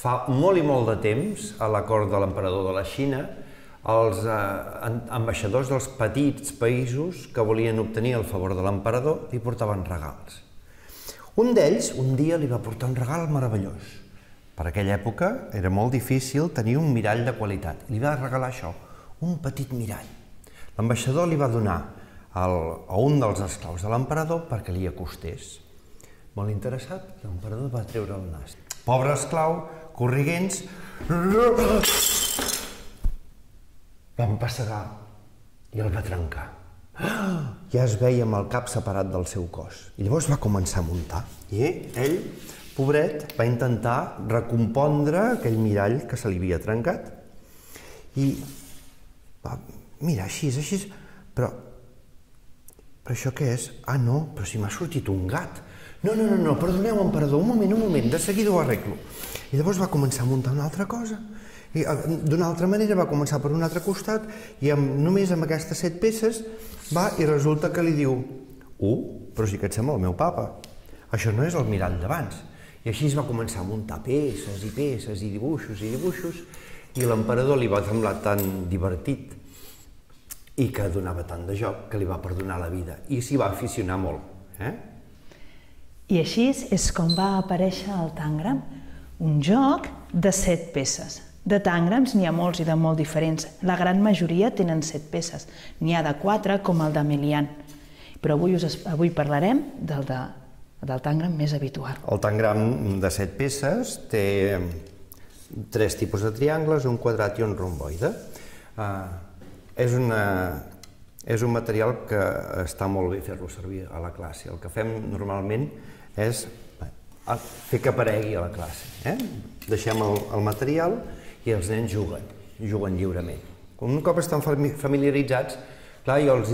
Fa molt i molt de temps, a la cort de l'emperador de la Xina, els ambaixadors dels petits països que volien obtenir el favor de l'emperador li portaven regals. Un d'ells, un dia, li va portar un regal meravellós. Per aquella època era molt difícil tenir un mirall de qualitat. Li va regalar això, un petit mirall. L'ambaixador li va donar a un dels esclaus de l'emperador perquè li acostés. Molt interessat, l'emperador va treure el nas. Pobre esclau, corriguents, va empassegar i el va trencar. Ja es veia amb el cap separat del seu cos. I llavors va començar a muntar. I ell, pobret, va intentar recompondre aquell mirall que se li havia trencat. I va mirar així, però això què és? Ah, no, però si m'ha sortit un gat. No, perdoneu, emperador, un moment, de seguida ho arreglo. I llavors va començar a muntar una altra cosa. I d'una altra manera va començar per un altre costat i només amb aquestes 7 peces va i resulta que li diu però sí que et sembla el meu papa. Això no és el mirall d'abans. I així es va començar a muntar peces i dibuixos i l'emperador li va semblar tan divertit i que donava tant de joc que li va perdonar la vida i s'hi va aficionar molt. I així és com va aparèixer el tàngram, un joc de 7 peces. De tàngrams n'hi ha molts i de molt diferents. La gran majoria tenen 7 peces. N'hi ha de 4, com el de Melian. Però avui parlarem del tàngram més habitual. El tàngram de 7 peces té 3 tipus de triangles, un quadrat i un romboide. És un material que està molt bé fer-lo servir a la classe. El que fem normalment és fer que aparegui a la classe. Deixem el material i els nens juguen lliurement. Un cop estan familiaritzats, clar, jo els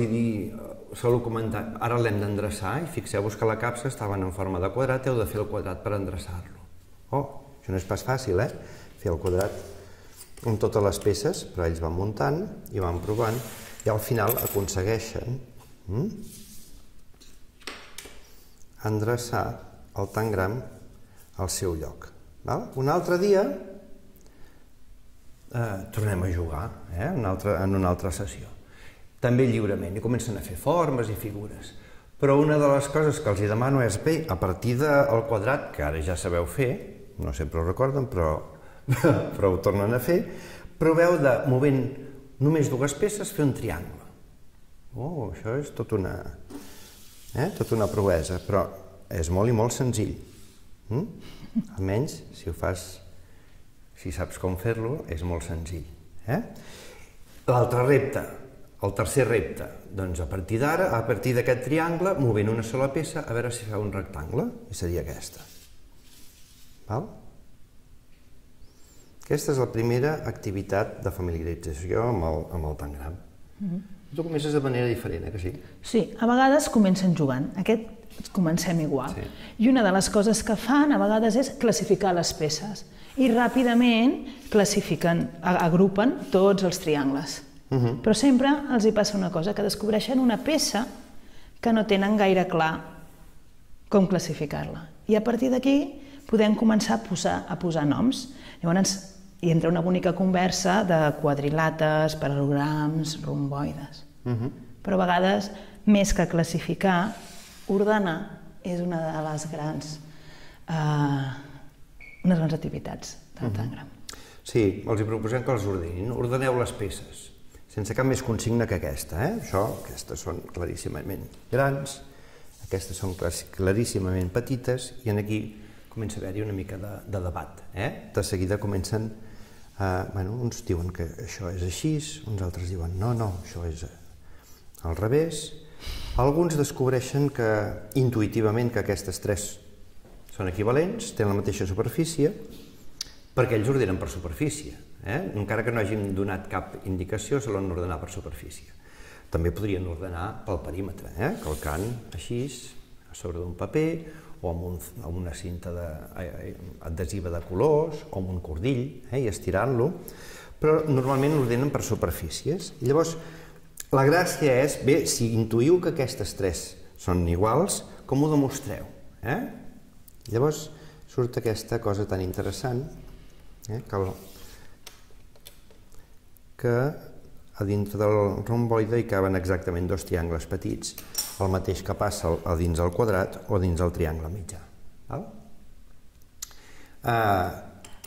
solo comentar, ara l'hem d'endreçar i fixeu-vos que la capsa estaven en forma de quadrat, heu de fer el quadrat per endreçar-lo. Això no és pas fàcil, fer el quadrat amb totes les peces, però ells van muntant i van provant i al final aconsegueixen endreçar el tàngram al seu lloc. Un altre dia tornem a jugar en una altra sessió, també lliurement, i comencen a fer formes i figures. Però una de les coses que els demano és, bé, a partir del quadrat, que ara ja sabeu fer, no sempre ho recorden, però ho tornen a fer, proveu de, movent només 2 peces, fer un triangle. Això és tota una proesa, però és molt i molt senzill. Almenys, si saps com fer-lo, és molt senzill. L'altre repte, el tercer repte, doncs a partir d'ara, a partir d'aquest triangle, movent una sola peça, a veure si fa un rectangle, i seria aquesta. Aquesta és la primera activitat de familiarització amb el tàngram. Tu comences de manera diferent, que sí? Sí, a vegades comencen jugant. Aquest comencem igual. I una de les coses que fan a vegades és classificar les peces. I ràpidament agrupen tots els triangles. Però sempre els hi passa una cosa, que descobreixen una peça que no tenen gaire clar com classificar-la. I a partir d'aquí podem començar a posar noms. Llavors hi entra una bonica conversa de quadrilàters, paralograms, romboides. Però a vegades, més que classificar, ordenar és una de les grans activitats del tàngram. Sí, els proposem que els ordenin. Ordeneu les peces, sense cap més consigna que aquesta. Aquestes són claríssimament grans, aquestes són claríssimament petites, i aquí comença a haver-hi una mica de debat. De seguida comencen, uns diuen que això és així, uns altres diuen no, això és al revés. Alguns descobreixen intuïtivament que aquestes 3 són equivalents, tenen la mateixa superfície, perquè ells ordenen per superfície. Encara que no hagin donat cap indicació, se l'han ordenar per superfície. També podrien ordenar pel perímetre, calcant així, a sobre d'un paper, o amb una cinta adhesiva de colors, o amb un cordill, i estirant-lo, però normalment ordenen per superfícies. I llavors, la gràcia és, bé, si intuïu que aquestes 3 són iguals, com ho demostreu? Llavors surt aquesta cosa tan interessant que a dintre del romboide hi caben exactament dos triangles petits, el mateix que passa a dins del quadrat o dins del triangle mitjà.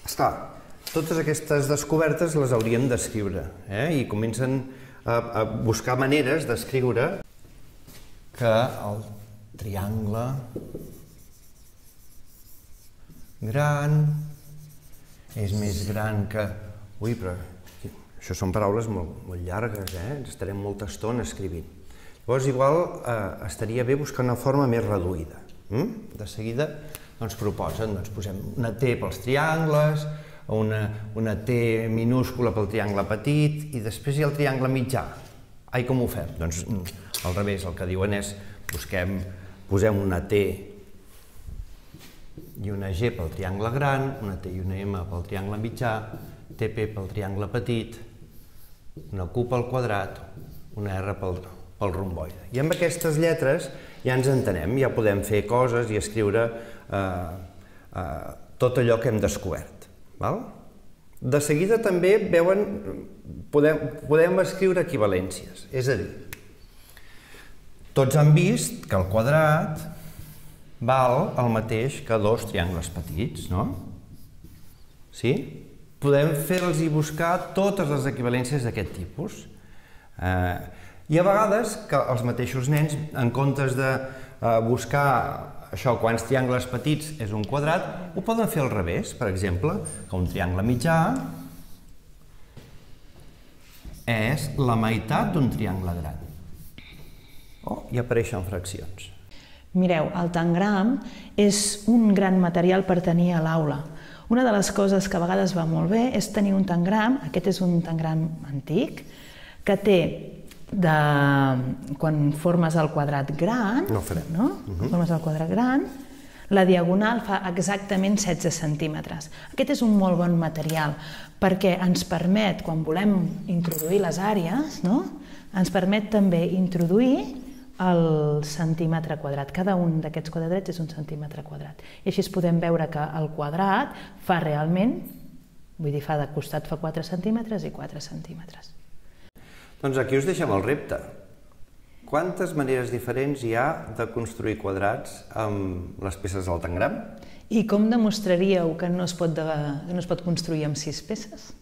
Esclar, totes aquestes descobertes les hauríem d'escriure i comencen a buscar maneres d'escriure que el triangle gran és més gran que... Ui, però això són paraules molt llargues, ens estarem molta estona escrivint. Llavors, igual estaria bé buscar una forma més reduïda. De seguida ens proposen, posem una T pels triangles, una T minúscula pel triangle petit i després hi ha el triangle mitjà. Ai, com ho fem? Doncs al revés, el que diuen és posem una T i una G pel triangle gran, una T i una M pel triangle mitjà, TP pel triangle petit, una Q pel quadrat, una R pel romboide. I amb aquestes lletres ja ens entenem, ja podem fer coses i escriure tot allò que hem descobert. De seguida també veuen, podem escriure equivalències, és a dir, tots han vist que el quadrat val el mateix que dos triangles petits, no? Sí? Podem fer-los i buscar totes les equivalències d'aquest tipus. I a vegades que els mateixos nens, en comptes de buscar això, quants triangles petits és un quadrat, ho poden fer al revés, per exemple, que un triangle mitjà és la meitat d'un triangle gran. I apareixen fraccions. Mireu, el tangram és un gran material per tenir a l'aula. Una de les coses que a vegades va molt bé és tenir un tangram, aquest és un tangram antic, que té, quan formes el quadrat gran, la diagonal fa exactament 16 centímetres. Aquest és un molt bon material perquè ens permet, quan volem introduir les àrees, ens permet també introduir el centímetre quadrat. Cada un d'aquests quadrats és un centímetre quadrat. I així podem veure que el quadrat fa realment, vull dir, de costat fa 4 centímetres i 4 centímetres. Doncs aquí us deixem el repte. Quantes maneres diferents hi ha de construir quadrats amb les peces del tangram? I com demostraríeu que no es pot construir amb 6 peces?